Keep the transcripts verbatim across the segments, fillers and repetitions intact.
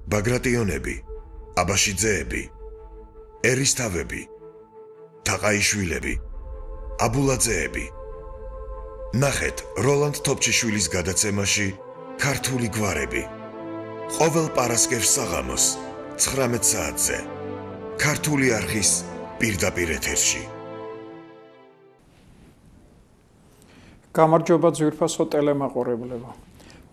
ბაგრატიონები, აბაშიძეები, ერისთავები, თაყაიშვილები, აბულაძეები. ნახეთ როლანდ თოფჩიშვილის გადაცემაში ქართული გვარები. ყოველ პარასკევს საღამოს ცხრამეტ საათზე ქართული არხის პირდაპირ ეთერში. გამარჯობა ძვირფასო ტელემაყურებლებო.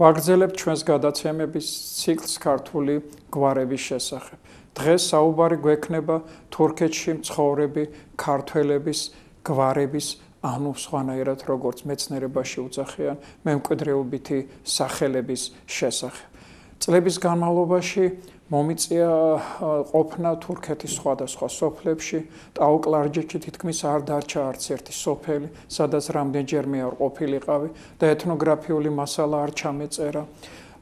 ვაგრძელებთ ჩვენს გადაცემების ციკლს ქართული გვარების შესახებ. დღეს საუბარი გვექნება თურქეთში მცხოვრები ქართველების გვარების, ანუ სხვანაირად როგორც მეცნიერებაში უძახიან, მემკვიდრეობითი სახელების შესახებ. წლების განმავლობაში მომიწია ყოფნა თურქეთის სხვადასხვა სოფლებში, ტაო-კლარჯეთში თითქმის არ დარჩა არც ერთი სოფელი, სადაც რამდენჯერმე არ ყოფილიყავი და ეთნოგრაფიული მასალა არ ჩამეწერა.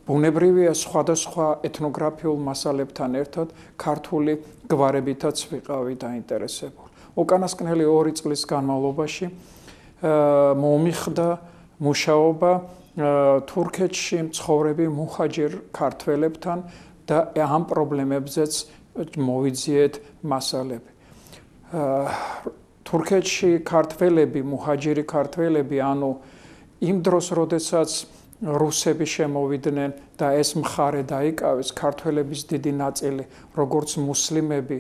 ბუნებრივია სხვადასხვა ეთნოგრაფიულ მასალებთან ერთად ქართული გვარებითაც ვიყავი დაინტერესებული. უკანასკნელი ორი წლის განმავლობაში მომიხდა მუშაობა თურქეთში მცხოვრები მუჰაჯირ ქართველებთან და ამ პრობლემებზეც მოვიძიეთ მასალები. თურქეთში ქართველები, მუჰაჯირი ქართველები, ანუ იმ დროს, როდესაც რუსები შემოვიდნენ და ეს მხარე დაიკავეს, ქართველების დიდი ნაწილი, როგორც მუსლიმები,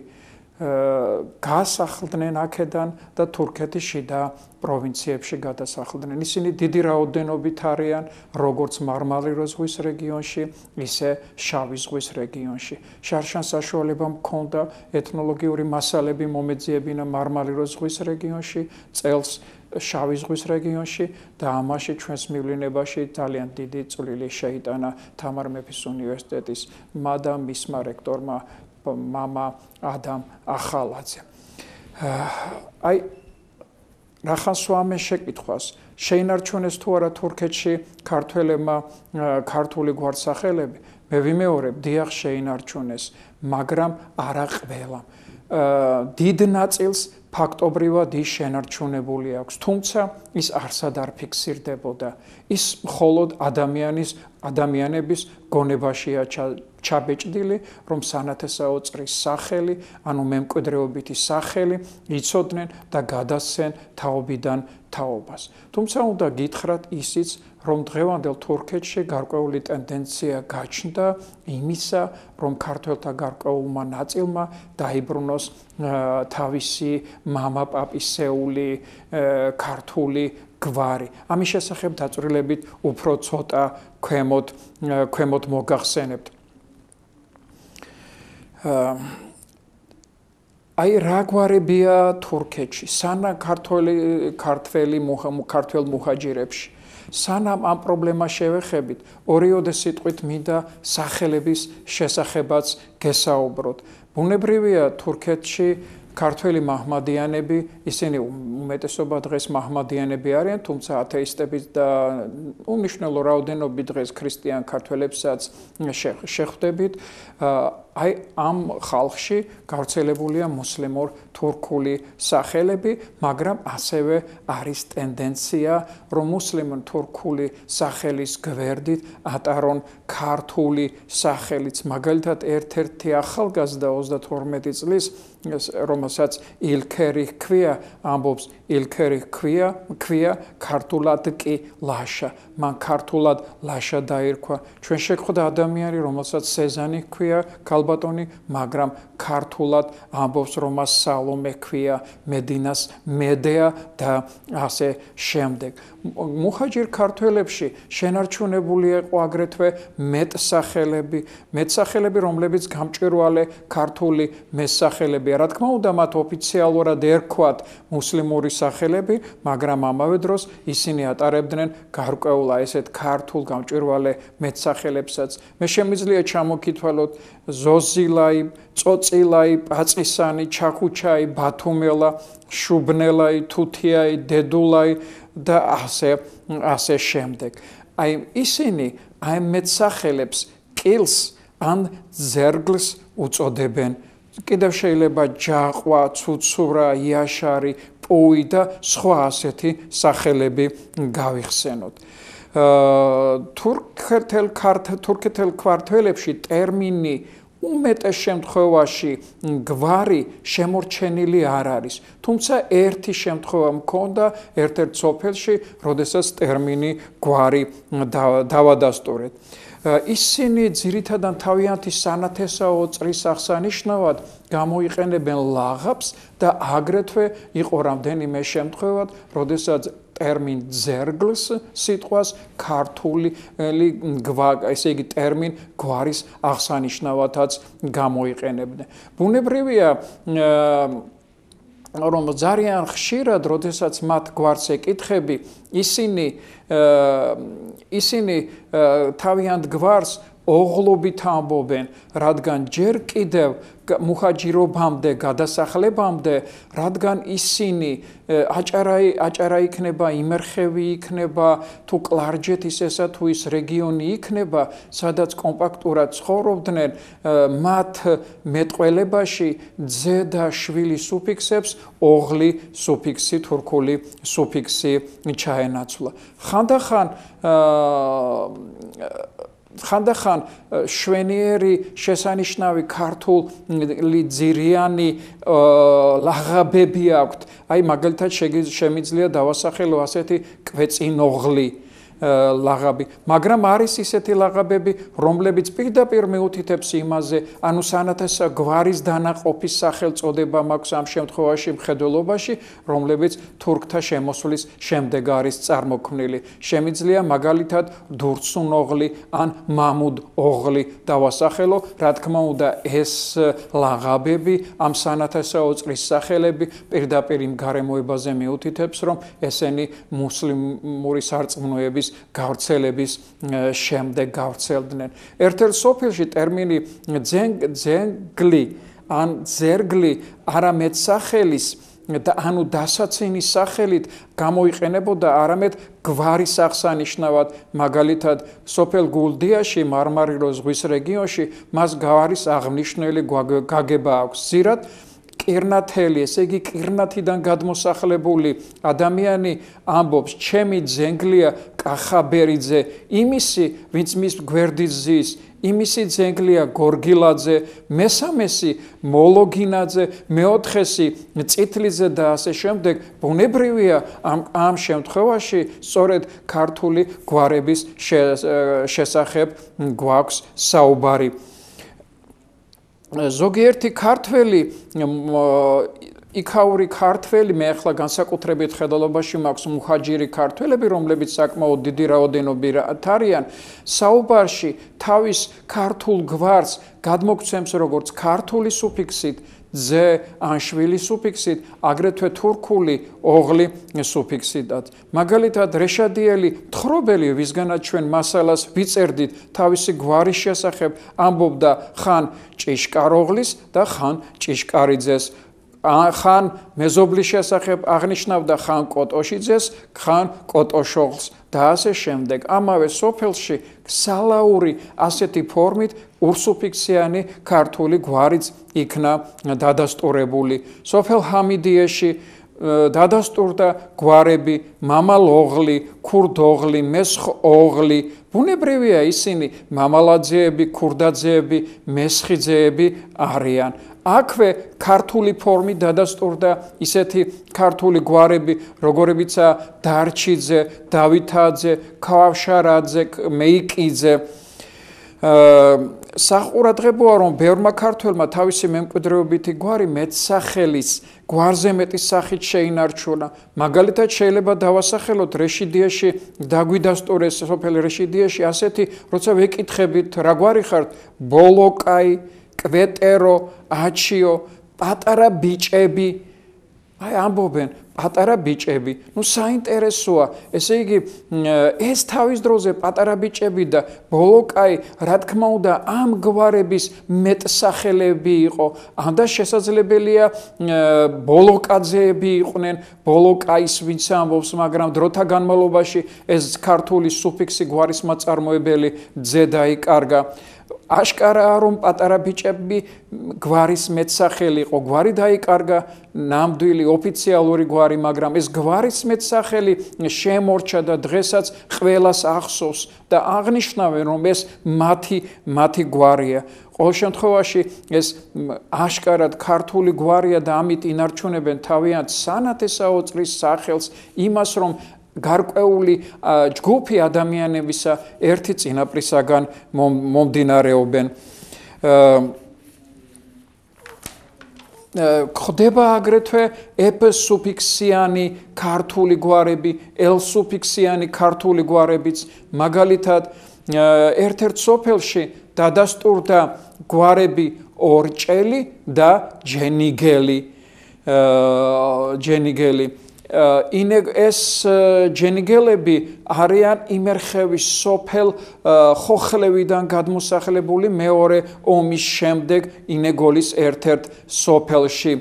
გაასახლდნენ აქედან და თურქეთის შიდა პროვინციებში გადასახლდნენ. ისინი დიდი რაოდენობით არიან როგორც მარმარილოს ზღვის რეგიონში, ისე შავი ზღვის რეგიონში. შარშან საშუალება მქონდა ეთნოლოგიური მასალები მომეძიებინა მარმარილოს ზღვის რეგიონში, წელს შავი ზღვის რეგიონში და ამაში ჩვენს მივლინებაში ძალიან დიდი წვლილი შეიტანა თამარ მეფის უნივერსიტეტის და მისმა რექტორმა მამა ადამ ახალაძე. აი რახანს ვამე შეკითხვას, შეინარჩუნეს თუ არა თურქეთში ქართველებმა ქართული გვარსახელები? მე ვიმეორებ, დიახ შეინარჩუნეს, მაგრამ არა ყველამ. დიდ ნაწილს ფაქტობრივად ის შენარჩუნებული აქვს, თუმცა ის არსად არ ფიქსირდებოდა. ის მხოლოდ ადამიანის ადამიანების გონებაშია ჩაბეჭდილი, რომ სანათესაო წრის სახელი, ანუ მემკვიდრეობითი სახელი იცოდნენ და გადასცენ თაობიდან თაობას. თუმცა უნდა გითხრათ ისიც, რომ დღევანდელ თურქეთში გარკვეული ტენდენცია გაჩნდა იმისა, რომ ქართველთა გარკვეულმა ნაწილმა დაიბრუნოს თავისი მამა-პაპისეული ქართული გვარი. ამის შესახებ დაწვრილებით უფრო ცოტა ქვემოთ ქვემოთ მოგახსენებთ. აი რა გვარებია თურქეთში, სანამ ქართველი ქართველი ქართველ მუჰაჯირებში. სანამ ამ პრობლემას შევეხებით, ორიოდე სიტყვით მინდა სახელების შესახებაც გესაუბროთ. ბუნებრივია თურქეთში ქართველი მაჰმადიანები, ისინი უმეტესობა დღეს მაჰმადიანები არიან, თუმცა ათეისტები და უმნიშვნელო რაოდენობით დღეს ქრისტიან ქართველებსაც შეხვდებით. აი ამ ხალხში გავრცელებულია მუსლიმურ თურქული სახელები, მაგრამ ასევე არის ტენდენცია, რომ მუსლიმურ თურქული სახელის გვერდით ატარონ ქართული სახელიც. მაგალითად, ერთ-ერთი ახალგაზრდა ოცდათორმეტი წლის, რომელსაც ილქერი ჰქვია, ამბობს ილქერი ჰქვია, ჰქვია ქართულად კი ლაშა. მან ქართულად ლაშა დაირქვა. ჩვენ შეხვდა ადამიანი, რომელსაც სეზანი ჰქვია, ქალბატონი, მაგრამ ქართულად ამბობს, რომ მას სალომე ჰქვია, მედინას მედეა და ასე შემდეგ. მუჰაჯირ ქართველებში შენარჩუნებული იყო აგრეთვე მეტსახელები, მეტსახელები, რომლებიც გამჭვირვალე ქართული მესახელები. რა თქმა უნდა, მათ ოფიციალურად ერქვათ მუსლიმური სახელები, მაგრამ ამავე დროს ისინი ატარებდნენ გარკვეულ ესეთ ქართულ გამჭვირვალე მეტსახელებსაც. მე შემიძლია ჩამოკითვალოთ ზოზილაი, წოწილაი, პაწისანი, ჩაქუჩაი, ბათუმელა, შუბნელაი, თუთიაი, დედულაი და ასე ასე შემდეგ. აი ისინი აი მეტსახელებს კილს ან ზერგლს უწოდებენ. კიდევ შეიძლება ჯაყვა, ცუცურა, იაშარი, პუი და სხვა ასეთი სახელები გავიხსენოთ. თურქეთელ თურქეთელ ქართველებში ტერმინი უმეტეს შემთხვევაში გვარი შემორჩენილი არ არის. თუმცა ერთი შემთხვევა მქონდა ერთ-ერთ სოფელში, როდესაც ტერმინი გვარი დავადასტურეთ. ისინი ძირითადად თავიანთი სანათესაო წრის აღსანიშნავად გამოიყენებენ ლაღაბს და აგრეთვე იყო რამდენიმე შემთხვევა, როდესაც ტერმინ ძერგლს სიტყვას ქართული ესე იგი ტერმინ გვარის აღსანიშნავადაც გამოიყენებდნენ. ბუნებრივია რომ ძალიან ხშირად, როდესაც მათ გვარს ეკითხები, ისინი ისინი თავიანთ გვარს ოღლობით ამბობენ, რადგან ჯერ კიდევ მუჰაჯირობამდე, გადასახლებამდე, რადგან ისინი აჭარაი აჭარა იქნება, იმერხევი იქნება, თუ კლარჯეთის ესა თუ ის რეგიონი იქნება, სადაც კომპაქტურად ცხოვრობდნენ, მათ მეტყველებაში ძე და შვილი სუფიქსებს ოღლი სუფიქსი, თურქული სუფიქსი ჩაენაცვლა. ხანდახან ხანდახან შვენიერი შესანიშნავი ქართული ძირიანი ლაღაბები აქვთ. აი მაგალითად შემიძლია დავასახელო ასეთი კვეწინოღლი ლაღაბი, მაგრამ არის ისეთი ლაღაბები, რომლებიც პირდაპირ მეუთითებს იმაზე, ანუ სანათესა გვარის დანაყოფის სახელწოდება მაქვს ამ შემთხვევაში მხედველობაში, რომლებიც თურქთა შემოსვლის შემდეგ არის წარმოქმნილი. შემიძლია მაგალითად დურცუნოღლი ან მამუდოღლი დავასახელო, რა თქმა უნდა, ეს ლაღაბები, ამ სანათესაო წრის სახელები პირდაპირ იმ გარემოებაზე მეუთითებს, რომ ესენი მუსლიმური სარწმუნოების გავრცელების შემდეგ გავრცელდნენ. ერთ-ერთ სოფელში ტერმინი ძენგლი ან ძერგლი არამედ სახელის და ანუ დასაცენის სახელით გამოიყენებოდა არამედ გვარის აღსანიშნავად, მაგალითად სოფელ გულდიაში, მარმარილოს ზღვის რეგიონში მას გვარის აღნიშნული გაგება აქვს. ზირად კირნათელი, ესე იგი კირნათიდან გადმოსახლებული ადამიანი ამბობს, ჩემი ძენგლია კახაბერიძე, იმისი, ვინც მის გვერდით ზის, იმისი ძენგლია გორგილაძე, მესამესი მოლოგინაძე, მეოთხესი წითლიძე და ასე შემდეგ. ბუნებრივია ამ ამ შემთხვევაში სწორედ ქართული გვარების შესახებ გვაქვს საუბარი. ზოგიერთი ქართველი იქაური ქართველი, მე ახლა განსაკუთრებით ხედელობაში მაქვს მუჰაჯირი ქართველები, რომლებიც საკმაოდ დიდი რაოდენობით არიან, საუბარში თავის ქართულ გვარს გადმოგცემს როგორც ქართული სუფიქსით, ძე ან შვილი სუფიქსით, აგრეთვე თურქული ოღლი სუფიქსითაც. მაგალითად, რეშადიელი თხრობელი, ვისგანაც ჩვენ მასალას ვიწერდით თავისი გვარის შესახებ, ამბობდა ხან ჭიშკაროღლის და ხან ჭიშკარიძეს. ხან მეზობლის შესახებ აღნიშნავდა ხან კოტოშიძეს, ხან კოტოშოღლს და ასე შემდეგ. ამავე სოფელში სალაური ასეთი ფორმით ურსუფიქსიანი ქართული გვარიც იქნა დადასტურებული. სოფელ ჰამიდიაში დადასტურდა გვარები მამალოღლი, ქურდოღლი, მესხოღლი. ბუნებრივია ისინი მამალაძეები, ქურდაძეები, მესხიძეები არიან. აქვე ქართული ფორმით დადასტურდა ისეთი ქართული გვარები, როგორებიცაა დარჩიძე, დავითაძე, ქავშარაძე, მეიკიძე. საყურადღებოა, რომ ბევრმა ქართველმა თავისი მემკვიდრეობითი გვარი მეტსახელის გვარზე მეტი სახით შეინარჩუნა. მაგალითად, შეიძლება დავასახელოთ რეშიდიაში დაგვიდასტურეს სოფელ რეშიდიაში ასეთი, როცა ვეკითხებით რა გვარი ხართ, ბოლოკაი, კვეტერო, აჩიო, პატარა ბიჭები, აი ამბობენ პატარა ბიჭები. ნუ საინტერესოა, ესე იგი ეს თავის დროზე პატარა ბიჭები და ბოლოკაი, რა თქმა უნდა, ამ გვარების მეტსახელები იყო. ამდა შესაძლებელია ბოლოკაძეები იყვნენ, ბოლოკაის ვინც ამბობს, მაგრამ დროთა განმავლობაში ეს ქართული სუფიქსი გვარის მაწარმოებელი ძე დაიკარგა. აშკარაა რომ პატარა ბიჭები გვარის მეტსახელი იყო, გვარი დაიკარგა, ნამდვილი ოფიციალური გვარი, მაგრამ ეს გვარის მეტსახელი შემორჩა და დღესაც ყველას ახსოვს და აღნიშნავენ რომ ეს მათი მათი გვარია. ყოველ შემთხვევაში ეს აშკარად ქართული გვარია და ამით ინარჩუნებენ თავიანთ სანათესაო წრის სახელს, იმას რომ გარკვეული ჯგუფი ადამიანებისა ერთი წინაპრისაგან მომდინარეობენ. ხდება აგრეთვე ეფ სუფიქსიანი ქართული გვარები, ელ სუფიქსიანი ქართული გვარებიც, მაგალითად ერთ-ერთ სოფელში დადასტურდა გვარები ორჭელი და ჯენიგელი. ჯენიგელი ეს ჯენიგელები არიან იმერხევის სოფელ ხოხლევიდან გადმოსახლებული მეორე ომის შემდეგ ინეგოლის ერთ-ერთ სოფელში.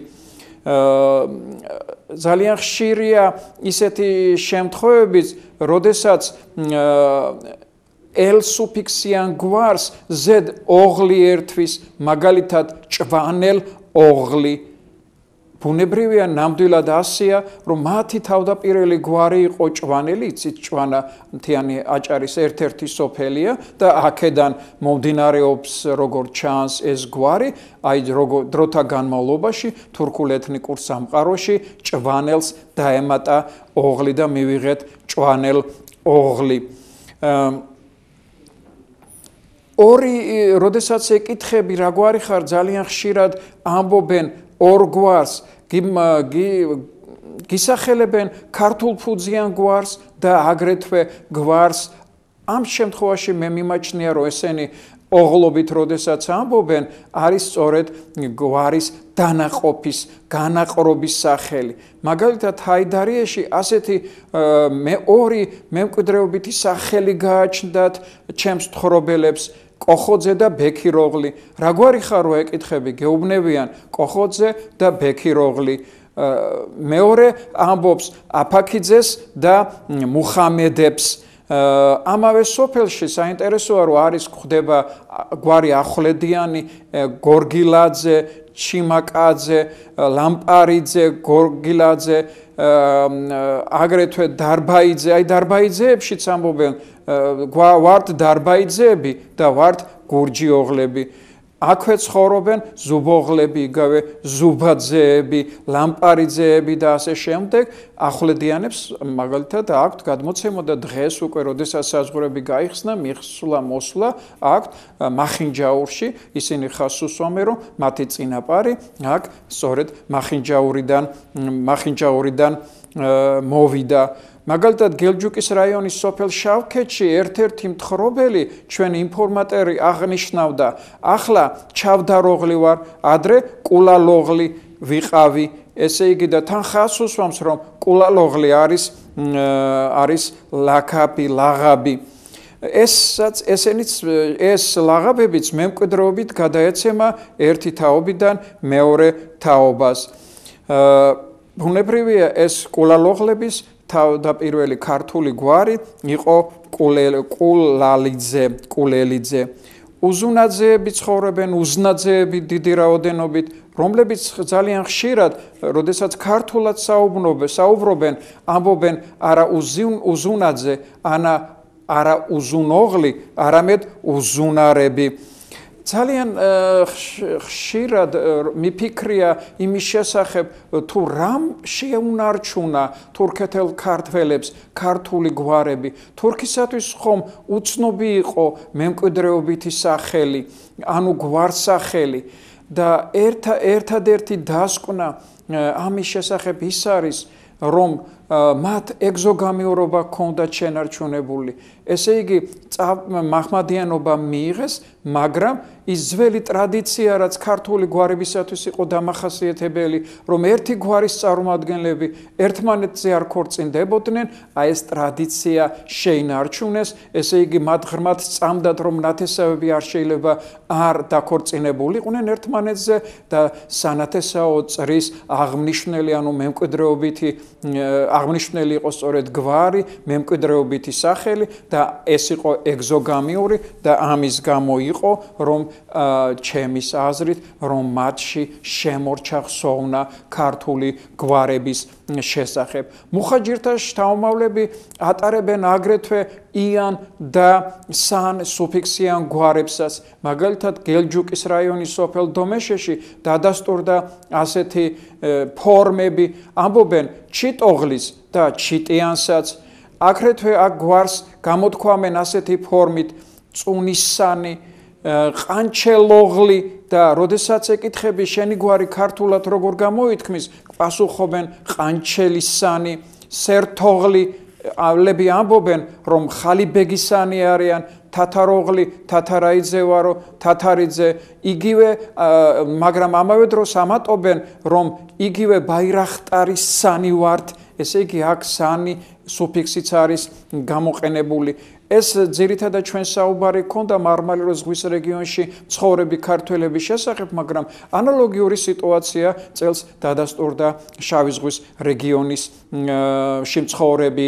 ძალიან ხშირია ისეთი შემთხვევებიც, როდესაც ელ სუფიქსიან გვარს ზედ ოღლი ერთვის, მაგალითად ჭვანელ ოღლი. ბუნებრივია ნამდვილად ასეა, რომ მათი თავდაპირველი გვარი იყო ჭვანელი, იცით ჭვანა მთიანი აჭარის ერთ-ერთი სოფელია და აქედან მომდინარეობს როგორც ჩანს ეს გვარი, აი დროთა განმავლობაში თურქულ ეთნიკურ სამყაროში ჭვანელს დაემატა ოღლი და მივიღეთ ჭვანელ ოღლი. ორი, როდესაც ეკითხები რა გვარი ხარ, ძალიან ხშირად ამბობენ ორ გვარს, გისახელებენ ქართულ ფუძიან გვარს და აგრეთვე გვარს. ამ შემთხვევაში მე მიმაჩნია, რომ ესენი ოღლობით როდესაც ამბობენ, არის სწორედ გვარის დანაყოფის, განაყრობის სახელი. მაგალითად, ჰაიდარიაში ასეთი მე ორი მემკვიდრეობითი სახელი გააჩნდათ ჩემს თხრობელებს, კოხოძე და ბექიროღლი. რა გვარი ხარო ეკითხები, გეუბნებიან კოხოძე და ბექიროღლი. მეორე ამბობს აფაქიძეს და მუხამედებს. ამავე სოფელში საინტერესოა, რომ არის ხდება გვარი ახვლედიანი, გორგილაძე, ჩიმაკაძე, ლამპარიძე, გორგილაძე, აგრეთვე დარბაიძე. აი დარბაიძეებშიც ამბობენ ვართ დარბაიძეები და ვართ გურჯიოღლები. აქვე ცხოვრობენ ზუბოღლები, იგავე ზუბაძეები, ლამპარიძეები და ასე შემდეგ. ახვლედიანებს მაგალითად აქვთ გადმოცემა და დღეს უკვე როდესაც საზღვრები გაიხსნა, მიხსვლა მოსვლა აქვთ მახინჯაურში, ისინი ხაზს უსვამენ, რომ მათი წინაპარი აქ სწორედ მახინჯაურიდან მახინჯაურიდან მოვიდა. მაგალითად გელჯუკის რაიონის სოფელ შავქეთში ერთ-ერთი მთხრობელი ჩვენი ინფორმატორი აღნიშნავდა, ახლა ჩავდაროღლი ვარ, ადრე კულალოღლი ვიყავი. ესე იგი და თან ხაზს უსვამს, რომ კულალოღლი არის არის ლაქაბი, ლაღაბი. ესაც ესენიც ეს ლაღაბებიც მემკვიდრეობით გადაეცემა ერთი თაობიდან მეორე თაობას. ბუნებრივია ეს კულალოღლების თავდაპირველი ქართული გვარი იყო კულალიძე, კულელიძე. უზუნაძეები ცხოვრობენ, უზნაძეები დიდი რაოდენობით, რომლებიც ძალიან ხშირად, როდესაც ქართულად საუბრობენ, ამბობენ არა უზუნაძე, ანა არა უზუნოღლი, არამედ უზუნარები. ძალიან ხშირად მიფიქრია იმის შესახებ, თუ რამ შეუნარჩუნა თურქეთელ ქართველებს ქართული გვარები. თურქისათვის ხომ უცნობი იყო მემკვიდრეობითი სახელი, ანუ გვარსახელი და ერთადერთი დასკვნა ამის შესახებ ის არის, რომ მათ ეგზოგამიურობა ჰქონდათ შენარჩუნებული. ესე იგი, მაჰმადიანობა მიიღეს, მაგრამ ის ძველი ტრადიცია, რაც ქართული გვარებისათვის იყო დამახასიათებელი, რომ ერთი გვარის წარმომადგენლები ერთმანეთზე არ ქორწინდებოდნენ, აი ეს ტრადიცია შეინარჩუნეს, ესე იგი, მათ ღრმად სწამდათ, რომ ნათესავები არ შეიძლება არ დაქორწინებულიყვნენ ერთმანეთზე და სანათესაო წრის აღმნიშვნელი, ანუ მემკვიდრეობითი აღნიშნული იყო სწორედ გვარი, მემკვიდრეობითი სახელი და ეს იყო ეგზოგამიური და ამის გამო იყო, რომ ჩემის აზრით, რომ მათში შემორჩა ხსოვნა ქართული გვარების შესახებ. მუხაჯირთა შთამომავლები ატარებენ აგრეთვე იან და სან სუფიქსიან გვარებსაც. მაგალითად, გელჯუკის რაიონის სოფელ დომეშეში დადასტურდა ასეთი ფორმები, ამბობენ ჩიტოღლის და ჩიტიანსაც. აგრეთვე აქ გვარს გამოთქვამენ ასეთი ფორმით წუნისანი, ყანჩელოღლი და როდესაც ეკითხები შენი გვარი ქართულად როგორ გამოითქმის, პასუხობენ ყანჩელისანი, სერთოღლი, ლები ამბობენ, რომ ხალიბეგისანი არიან, თათაროღლი, თათარაიძე ვარო, თათარიძე, იგივე, მაგრამ ამავე დროს ამატობენ, რომ იგივე ბაირახტარის სანი ვართ, ესე იგი აქ სანი სუფიქსიც არის გამოყენებული. ეს ძირითადად ჩვენ საუბარი ქონდა მარმარილოს ზღვის რეგიონში მცხოვრები ქართველების შესახებ, მაგრამ ანალოგიური სიტუაცია წელს დადასტურდა შავი ზღვის რეგიონის მცხოვრები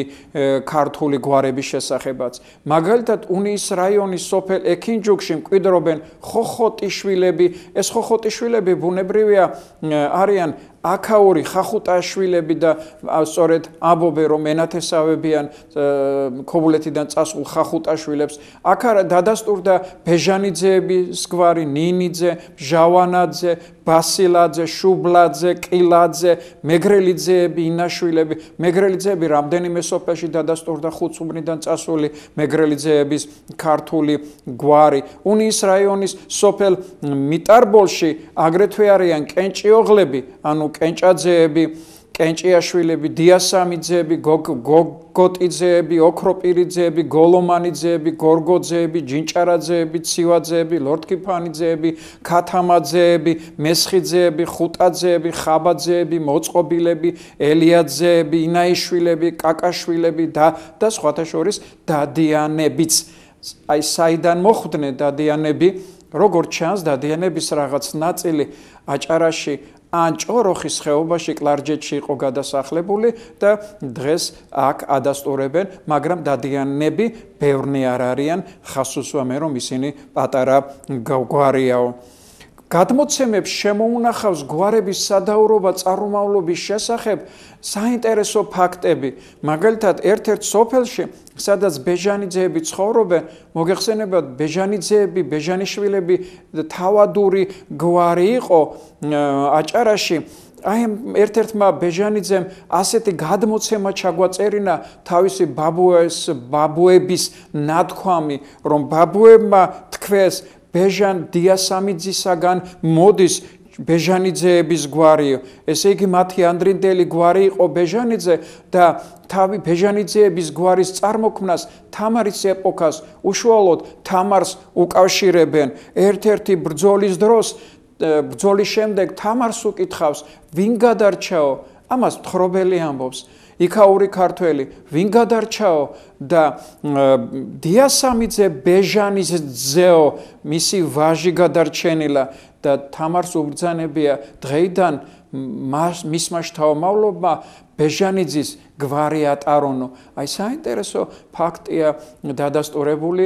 ქართული გვარების შესახებაც. მაგალითად, უნიის რაიონის სოფელ ექინჯუქში მკვიდრობენ ხოხოტიშვილები. ეს ხოხოტიშვილები ბუნებრივია არიან აქაური ხახუტაშვილები და სწორედ ამბობენ, რომ ენათესავებიან ქობულეთიდან წასულ ხახუტაშვილებს. აქ დადასტურდა ბეჟანიძეების გვარი, ნინიძე, ჟავანაძე, ბასილაძე, შუბლაძე, ყილაძე, მეგრელიძეები, ინაშვილები. მეგრელიძეები რამდენიმე სოფელში დადასტურდა ხუცუმრიდან წასული მეგრელიძეების ქართული გვარი. უნიის რაიონის სოფელ მიტარბოლში აგრეთვე არიან კენჭიოღლები, ანუ კენჭაძეები, კენჭიაშვილები, დიასამიძეები, გოგოტიძეები, ოქროპირიძეები, გოლომანიძეები, გორგოძეები, ჯინჭარაძეები, ცივაძეები, ლორთქიფანიძეები, ქათამაძეები, მესხიძეები, ხუტაძეები, ხაბაძეები, მოწყობილები, ელიაძეები, ინაიშვილები, კაკაშვილები და და სხვათა შორის დადიანებიც. აი საიდან მოხვდნენ დადიანები? როგორც ჩანს, დადიანების რაღაც ნაწილი აჭარაში ან ჭოროხის ხეობაში კლარჯეთში იყო გადასახლებული და დღეს აქ ადასტურებენ, მაგრამ დადიანები ბევრნი არ არიან, ხას უსვამენ, რომ ისინი პატარა გვარიაო. გადმოცემებს შემოუნახავს გვარების სადაურობა წარმომავლობის შესახებ საინტერესო ფაქტები. მაგალითად, ერთ-ერთ სოფელში, სადაც ბეჟანიძეები ცხოვრობენ, მოგეხსენებათ, ბეჟანიძეები, ბეჟანიშვილები თავადური გვარი იყო აჭარაში. აი ერთ-ერთმა ბეჟანიძემ ასეთი გადმოცემა ჩაგვაწერინა თავისი ბაბუეს, ბაბუების ნათქვამი, რომ ბაბუებმა თქვეს ბეჟან დიასამიძისაგან მოდის ბეჟანიძეების გვარი. ესე იგი, მათი ანდრინდელი გვარი იყო ბეჟანიძე და თავი ბეჟანიძეების გვარის წარმოქმნას თამარის ეპოქას უშუალოდ თამარს უკავშირებენ. ერთ-ერთი ბრძოლის დროს, ბრძოლის შემდეგ თამარს უკითხავს, ვინ გადარჩაო? ამას მთხრობელი ამბობს. იქაური ქართველი, ვინ გადარჩაო და დიასამიძე ბეჟანიძეო, მისი ვაჟი გადარჩენილა და თამარს უბრძანებია დღეიდან მისმა შთამომავლობმა ბეჟანიძის გვარი ატარონო. აი საინტერესო ფაქტია დადასტურებული,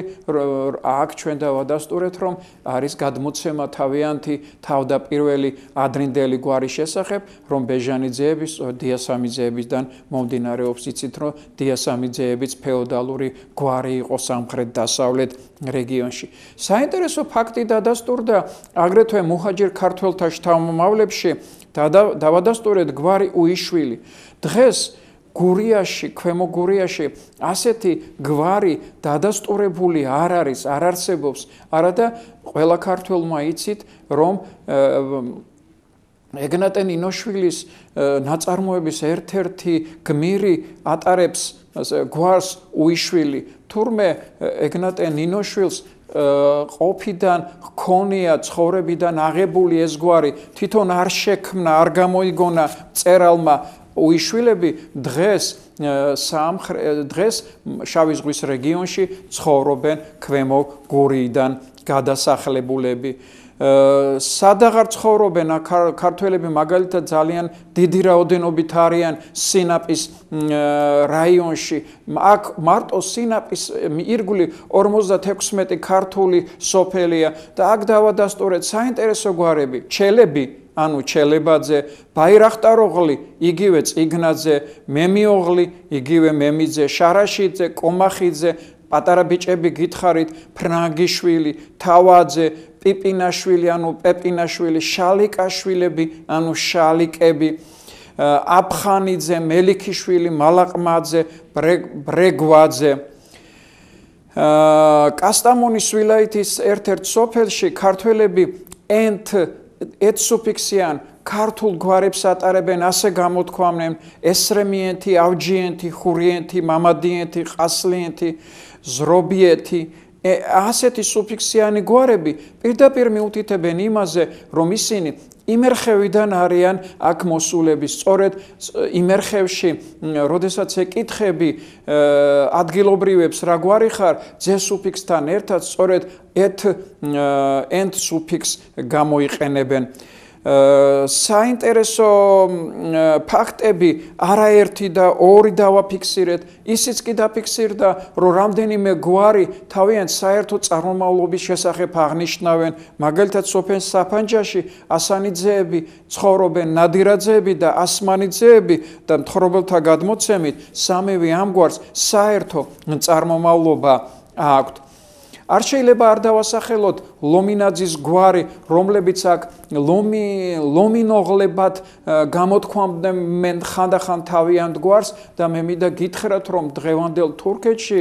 აქ ჩვენ დავადასტურეთ, რომ არის გადმოცემა თავიანთი თავდაპირველი ადრინდელი გვარის შესახებ, რომ ბეჟანიძეების, დიასამიძეებისგან მომდინარეობს. იცით, რომ დიასამიძეებიც ფეოდალური გვარი იყო სამხრეთ-დასავლეთ რეგიონში. საინტერესო ფაქტი დადასტურდა აგრეთვე მუჰაჯირ ქართველთა შთამომავლებში, დავადასტურეთ გვარი უიშვილი. დღეს გურიაში, ქვემო გურიაში ასეთი გვარი დადასტურებული არ არის, არ არსებობს, არადა ყველა ქართველმა იცით, რომ ეგნატე ნინოშვილის ნაწარმოების ერთ-ერთი გმირი ატარებს გვარს უიშვილი. თურმე ეგნატე ნინოშვილს ყოფიდან ჰქონია ცხოვრებიდან აღებული ეს გვარი, თვითონ არ შექმნა, არ გამოიგონა წერალმა უიშვილები დღეს დღეს შავი ზღვის რეგიონში ცხოვრობენ ქვემო გურიიდან გადასახლებულები. სადაღარ ცხოვრობენ ქართველები მაგალითად ძალიან დიდი რაოდენობით არიან სინაპის რაიონში აქ მარტო სინაპის ირგვლივ ორმოცდათექვსმეტი ქართული სოფელია და აქ დავადასტურეთ საინტერესო გვარები ჩელები ანუ ჩელებაძე ბაირახტაროღლი იგივე წიგნაძე მემიოღლი იგივე მემიძე შარაშიძე კომახიძე პატარა ბიჭები გითხარით ფრანგიშვილი თავაძე პიპინაშვილი ანუ პეპინაშვილი შალიკაშვილები ანუ შალიკები აფხანიძე მელიქიშვილი მალაყმაძე ბრეგვაძე კასტამონის ვილაიეთის ერთ-ერთ სოფელში ქართველები ენთ ეთსუფიქსიან ქართულ გვარებს ატარებენ ასე გამოთქვამენ ესრემიენთი ავჯიენთი ხურიენთი მამადიენთი ყასლიენთი ზრობიეთი ასეთი სუფიქსიანი გვარები პირდაპირ მიუთითებენ იმაზე რომ ისინი იმერხევიდან არიან აქ მოსულები სწორედ იმერხევში როდესაც ეკითხები ადგილობრივებს რა გვარი ხარ ძე სუფიქსთან ერთად სწორედ ეთ ენთ სუფიქსს გამოიყენებენ საინტერესო ფაქტები არაერთი და ორი დავაფიქსირეთ ისიც კი დაფიქსირდა რომ რამდენიმე გვარი თავიანთ საერთო წარმომავლობის შესახებ აღნიშნავენ მაგალითად სოფელ საფანჯაში ასანიძეები ცხოვრობენ ნადირაძეები და ასმანიძეები და მთხრობელთა გადმოცემით სამივე ამ გვარს საერთო წარმომავლობა აქვთ არ შეიძლება არ დავასახელოთ ლომინაძის გვარი, რომლებიც აქ ლომი ლომინოღლებად გამოთქვამდნენ ხანდახან თავიანთ გვარს და მე მინდა გითხრათ, რომ დღევანდელ თურქეთში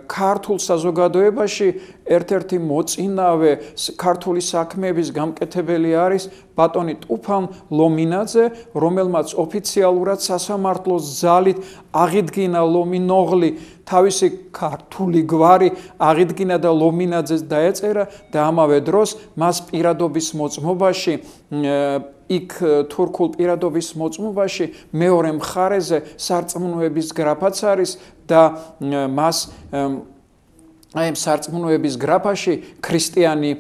ქართულ საზოგადოებაში ერთ-ერთი მოწინავე ქართული საქმეების გამკეთებელი არის ბატონი ტუფან ლომინაძე, რომელმაც ოფიციალურად სასამართლოს ძალით აღიდგინა ლომინოღლი თავისი ქართული გვარი აღიდგინა და ლომინაძეს დაეწერა და ამავე დროს მას პირადობის მოწმობაში იქ თურქულ პირადობის მოწმობაში მეორე მხარეზე სარწმუნოების გრაფაც არის და მას აი ამ სარწმუნოების გრაფაში ქრისტიანი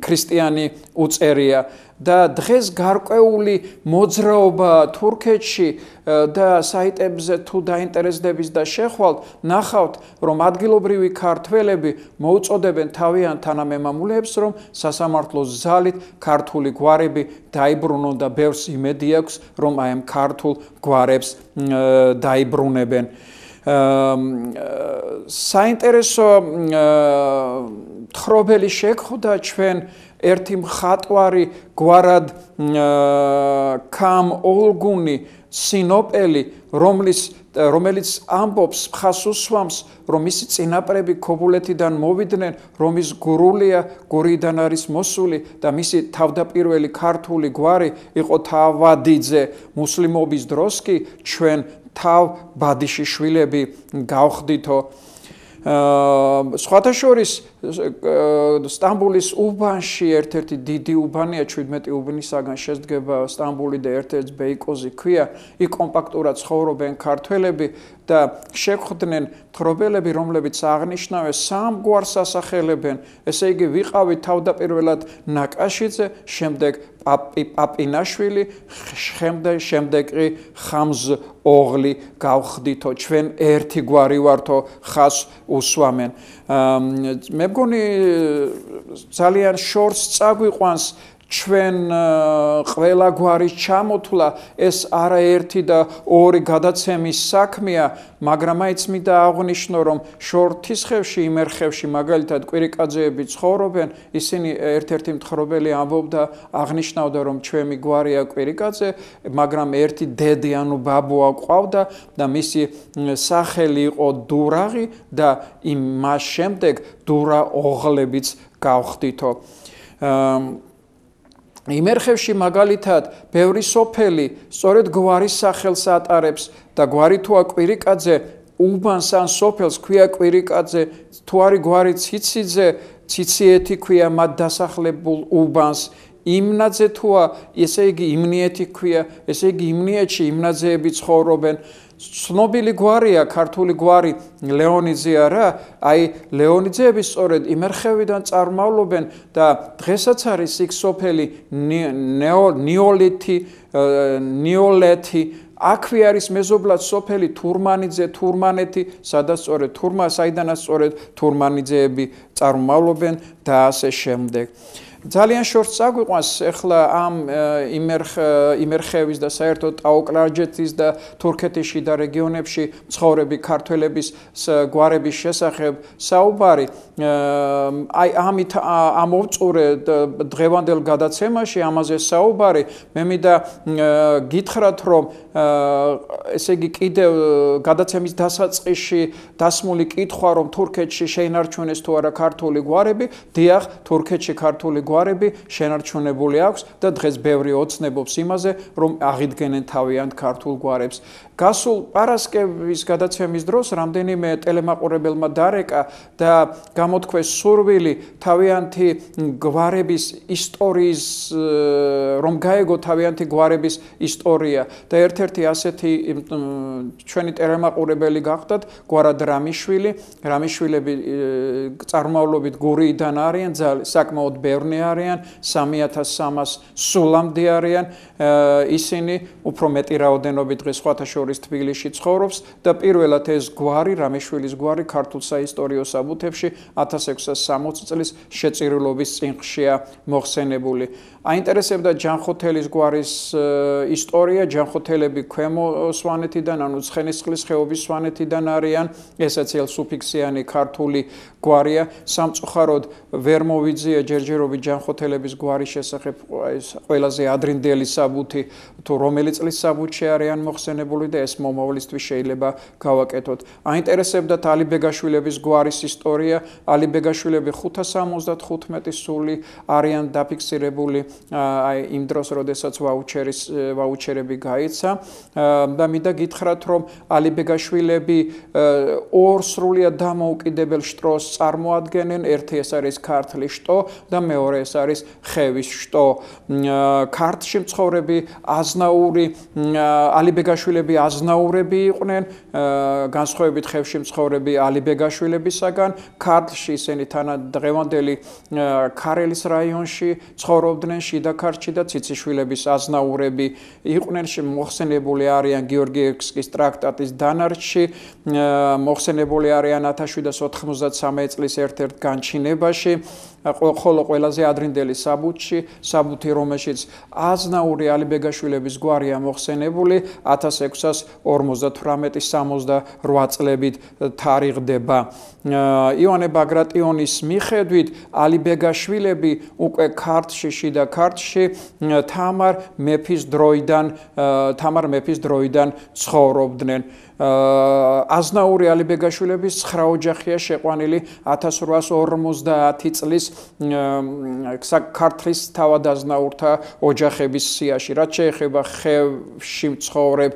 ქრისტიანი უწერია და დღეს გარკვეული მოძრაობა თურქეთში და საიტებზე თუ დაინტერესდებით და შეხვალთ ნახავთ რომ ადგილობრივი ქართველები მოუწოდებენ თავიანთ თანამემამულეებს რომ სასამართლოს ძალით ქართული გვარები დაიბრუნონ და ბევრს იმედი აქვს რომ აი ამ ქართულ გვარებს დაიბრუნებენ საინტერესო თხრობელი შეგხვდა ჩვენ ერთი მხატვარი გვარად კამ ოლგუნი სინოპელი რომლის რომელიც ამბობს ხას უსვამს რომ მისი წინაპრები ქობულეთიდან მოვიდნენ რომ ის გურულია გურიდან არის მოსული და მისი თავდაპირველი ქართული გვარი იყო თავადიძე მუსლიმობის დროს კი ჩვენ თავ ბადიში შვილები გავხდითო სხვათა შორის სტამბოლის უბანში ერთ-ერთი დიდი უბანია ჩვიდმეტი უბნისაგან შედგება სტამბოლი და ერთ-ერთი ბეიკოზი ქვია იქ კომპაქტურად ცხოვრობენ ქართველები და შეხვდნენ თხრობელები რომლებიც აღნიშნავენ სამ გვარს ასახელებენ ესე იგი ვიყავით თავდაპირველად ნაკაშიძე შემდეგ პაპინაშვილი შემდეგ შემდეგი ხამზ ოღლი გავხდითო ჩვენ ერთი გვარი ვართო ხას უსვამენ მე მგონი ძალიან შორს წაგვიყვანს ჩვენ ყველა გვარის ჩამოთვლა ეს არაერთი და ორი გადაცემის საქმეა მაგრამ აიც მინდა აღვნიშნო რომ შორთისხევში იმერხევში მაგალითად კვირიკაძეები ცხოვრობენ ისინი ერთ-ერთი მთხრობელი ამბობდა აღნიშნავდა რომ ჩვენი გვარია კვირიკაძე მაგრამ ერთი დედი ანუ ბაბუა ყავდა და მისი სახელი იყო დურაღი და იმ მას შემდეგ დურა ოღლებიც გავხდითო იმერხევში მაგალითად ბევრი სოფელი სწორედ გვარის სახელს ატარებს და გვარი თუა კვირიკაძე უბანს ან სოფელს ქვია კვირიკაძე თუ არის გვარი ციციძე ციციეთი ქვია მათ დასახლებულ უბანს იმნაძე თუა ესე იგი იმნიეთი ქვია ესე იგი იმნიეთში იმნაძეები ცხოვრობენ ცნობილი გვარია ქართული გვარი ლეონიძეა რა, აი ლეონიძეები სწორედ იმერხევიდან წარმავლობენ და დღესაც არის იქ სოფელი ნიოლეთი, ნიოლეთი, აქვე არის მეზობლად სოფელი თურმანიძე, თურმანეთი, სადაც სწორედ თურმა, საიდანაც სწორედ თურმანიძეები წარმავლობენ და ასე შემდეგ. ძალიან შორს წაგვიყვანს ახლა ამ იმერხევის და საერთოდ ტაო-კლარჯეთის და თურქეთის შიდა რეგიონებში მცხოვრები ქართველების გვარების შესახებ საუბარი. აი ამით ამოვწურე დღევანდელ გადაცემაში ამაზე საუბარი. მე მინდა გითხრათ, რომ ესე იგი კიდევ გადაცემის დასაწყისში დასმული კითხვა, რომ თურქეთში შეინარჩუნეს თუ არა ქართული გვარები, დიახ, თურქეთში ქართული გვარები შენარჩუნებული აქვს და დღეს ბევრი ოცნებობს იმაზე, რომ აღიდგენენ თავიანთ ქართულ გვარებს. გასულ პარასკევის გადაცემის დროს რამდენიმე ტელემაყურებელმა დარეკა და გამოთქვეს სურვილი თავიანთი გვარების ისტორიის, რომ გაეგო თავიანთი გვარების ისტორია და ერთ-ერთი ასეთი ჩვენი ტელემაყურებელი გახდათ გვარად რამიშვილი. რამიშვილები წარმავლობით გურიიდან არიან, საკმაოდ ბევრნი არიან, სამი ათას სამას სულამდე არიან. ისინი უფრო მეტი რაოდენობით დღეს სხვათა შორის თბილისში ცხოვრობს და პირველად ეს გვარი, რამიშვილის გვარი ქართულ საისტორიო საბუთებში ათას ექვსას სამოცი წლის შეწირულობის წინღშია მოხსენებული. აინტერესებდა ჯანხოთელის გვარის ისტორია. ჯანხოთელები ქვემო სვანეთიდან, ანუ ცხენისწყლის ხეობის სვანეთიდან არიან. ესაც ელსუფიქსიანი ქართული გვარია. სამწუხაროდ ვერ მოვიძია ჯერჯერობით ჯანხოთელების გვარის შესახებ ყველაზე ადრინდელი საბუთი, თუ რომელი წლის საბუთში არიან მოხსენებული და ეს მომავლისთვის შეიძლება გავაკეთოთ. აინტერესებდათ ალიბეგაშვილების გვარის ისტორია. ალიბეგაშვილები ხუთას სამოცდათხუთმეტი სული არიან დაფიქსირებული აი იმ დროს, როდესაც ვაუჩერის ვაუჩერები გაიცა და მინდა გითხრათ, რომ ალიბეგაშვილები ორ სრულიად დამოუკიდებელ შტოს წარმოადგენენ. ერთი ეს არის ქართლის შტო და მეორე ეს არის ხევის შტო. ქართლში მცხოვრები აზნაური ალიბეგაშვილები აზნაურები იყვნენ, განსხვავებით ხევში მცხოვრები ალიბეგაშვილებისაგან. ქართლში ისინი თანადღევანდელი ქარელის რაიონში ცხოვრობდნენ, შიდა ქართლში და ციციშვილების აზნაურები იყვნენ. მოხსენებული არიან გიორგიევსკის ტრაქტატის დანარჩში, მოხსენებული არიან ათას შვიდას ოთხმოცდასამი წლის ერთ-ერთ განჩინებაში, ხოლო ყველაზე ადრინდელი საბუთში, საბუთი რომელშიც აზნაური ალიბეგაშვილების გვარია მოხსენებული, ათას ექვსას ორმოცდათვრამეტი სამოცდარვა წლებით თარიღდება. ივანე ბაგრატიონის მიხედვით ალიბეგაშვილები უკვე ქართლში, შიდა ქართლში თამარ მეფის დროიდან თამარ მეფის დროიდან ცხოვრობდნენ. აზნაური ალიბეგაშვილების ცხრა ოჯახია შეყვანილი ათას რვაას ორმოცდაათი წლის ქართლის თავადაზნაურთა ოჯახების სიაში. რაც შეეხება ხევში მცხოვრებ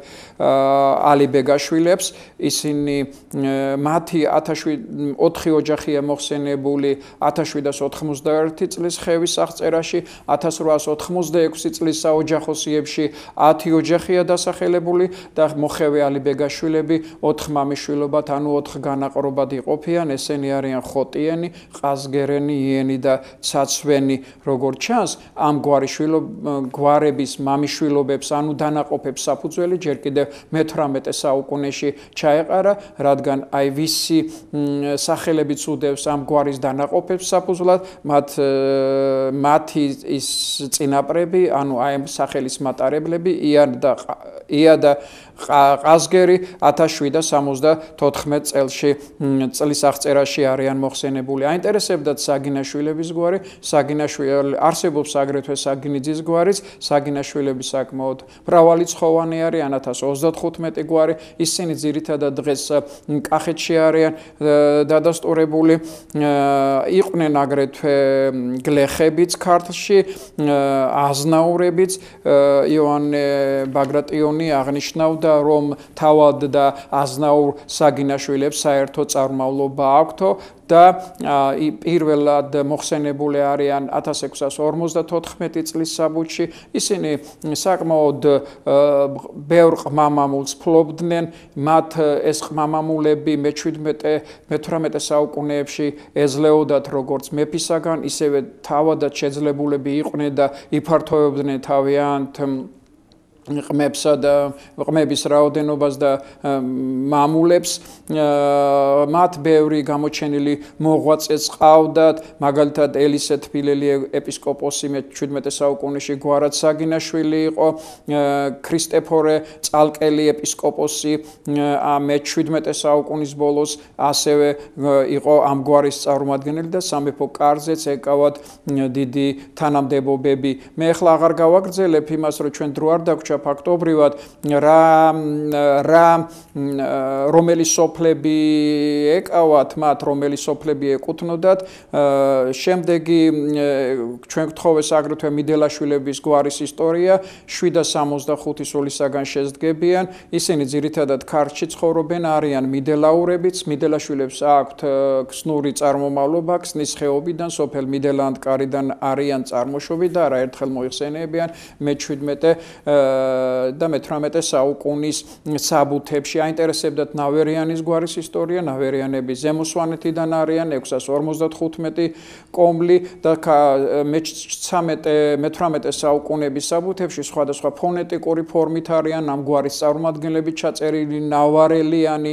ალიბეგაშვილებს, ისინი მათი ოთხი ოჯახია მოხსენებული ათას შვიდას ოთხმოცდაერთი წლის ხევის აღწერაში, ათას რვაას ოთხმოცდაექვსი წლის საოჯახო სიებში ათი ოჯახია დასახელებული და მოხევე ალიბეგაშვილები ოთხ მამიშვილობად, ანუ ოთხ განაყრობად იყოფიან. ესენი არიან ხოტიენი, ყაზგერენი, იენი და ცაცვენი. როგორც ჩანს, ამ გვარების მამიშვილობებს, ანუ დანაყოფებს საფუძველი ჯერ კიდევ მეთვრამეტე საუკუნეში ჩაეყარა, რადგან აი ვისი სახელებიც უდევს ამ გვარის დანაყოფებს საფუძვლად, მათ მათი ის წინაპრები, ანუ აი ამ სახელის მატარებლები, ია და ია და ყაზგერი ათას შვიდას სამოცდათოთხმეტ წელში წლის აღწერაში არიან მოხსენებული. აინტერესებდათ საგინაშვილების გვარი, საგინაშვილი არსებობს აგრეთვე საგინიძის გვარიც, საგინაშვილები საკმაოდ მრავალრიცხოვანი არიან, ათას ოცდათხუთმეტი გვარი, ისინი ძირითადად დღეს კახეთში არიან დადასტურებული. იყვნენ აგრეთვე გლეხებიც ქართლში, აზნაურებიც. ივანე ბაგრატიონი აღნიშნავდა, რომ თავად და აზნაურ საგინაშვილებს საერთო წარმავლობა აქვთო და პირველად მოხსენებული არიან ათას ექვსას ორმოცდათოთხმეტი წლის საბუთში. ისინი საკმაოდ ბევრ ყმამამულს ფლობდნენ, მათ ეს ყმამამულები მეჩვიდმეტე მეთვრამეტე საუკუნეებში ეძლეოდათ როგორც მეფისაგან, ისევე თავადაც შეძლებულები იყვნენ და იფართოვებდნენ თავიანთ ყმებსა და ყმების რაოდენობას და მამულებს. მათ ბევრი გამოჩენილი მოღვაწეც ყავდათ, მაგალითად ელისე თბილელი ეპისკოპოსი მეჩვიდმეტე საუკუნეში გვარად საგინაშვილი იყო, ქრისტეფორე წალკელი ეპისკოპოსი მეჩვიდმეტე საუკუნის ბოლოს ასევე იყო ამ გვარის წარმომადგენელი და სამეფო კარზეც ეკავათ დიდი თანამდებობები. მე ახლა აღარ გავაგრძელებ იმას, რომ ჩვენ დრო არ დაგვრჩა ფაქტობრივად რა რა რომელი სოფლები ეკავათ მათ, რომელი სოფლები ეკუთვნოდათ. შემდეგი ჩვენ გთხოვეს აგრეთვე მიდელაშვილების გვარის ისტორია, შვიდ სამოცდახუთი სულისაგან შედგებიან. ისინი ძირითადად ქართლში ცხოვრობენ, არიან მიდელაურებიც, მიდელაშვილებს აქვთ ქსნური წარმომავლობა, ქსნის ხეობიდან, სოფელ მიდელანდკარიდან არიან წარმოშობით და არაერთხელ მოიხსენიებიან მეჩვიდმეტე და მეთვრამეტე საუკუნის საბუთებში. აინტერესებდათ ნავერიანის გვარის ისტორია, ნავერიანები ზემო სვანეთიდან არიან, ექვსას ორმოცდათხუთმეტი კომლი და მეთვრამეტე საუკუნეების საბუთებში სხვადასხვა ფონეტიკური ფორმით არიან ამ გვარის წარმომადგენლები ჩაწერილი, ნავარელიანი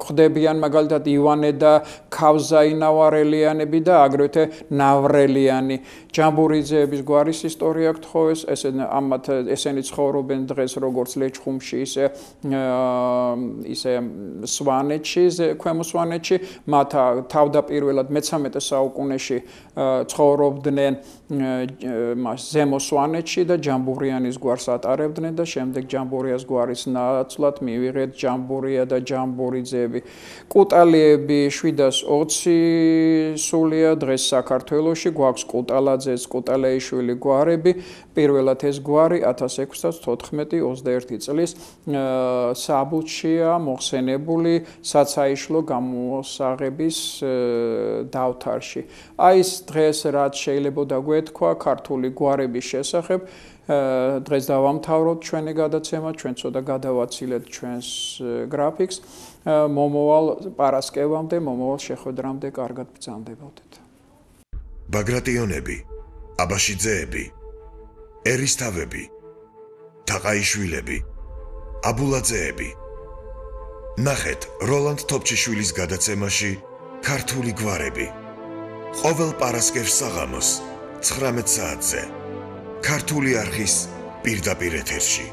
გვხდებიან, მაგალითად ივანე და ქავზაი ნავარელიანები და აგრეთვე ნავრელიანი. ჯამბურიძეების გვარის ისტორია გთხოვეს, ამათ ესენი ცხოვრობენ დღეს როგორც ლეჩხუმში, ისე ისე სვანეთში, ქვემო სვანეთში. მათ თავდაპირველად მეცამეტე საუკუნეში ცხოვრობდნენ ზემო სვანეთში და ჯამბურიანის გვარს ატარებდნენ და შემდეგ ჯამბურიას გვარის ნაცვლად მივიღეთ ჯამბურია და ჯამბურიძეები. კუტალიები შვიდას ოცი სულია დღეს საქართველოში, გვაქვს კუტალაძეს, კუტალეიშვილი გვარები. პირველად ეს გვარი ათას ექვსსათოთხმეტი ოცდაერთი წლის საბუთშია მოხსენებული საცაიშლო გამოსაღების დავთარში. აი ეს დღეს რაც შეიძლება გვეთქვა ქართული გვარების შესახებ. დღეს დავამთავროთ ჩვენი გადაცემა, ჩვენ ცოტა გადავაცილეთ ჩვენს გრაფიკს. მომავალ პარასკევამდე, მომავალ შეხვედრამდე კარგად ბრძანდებოდეთ. ბაგრატიონები, აბაშიძეები, ერისთავები, თაყაიშვილები, აბულაძეები. ნახეთ როლანდ თოფჩიშვილის გადაცემაში ქართული გვარები. ყოველ პარასკევს საღამოს ცხრამეტ საათზე ქართული არხის პირდაპირ ეთერში.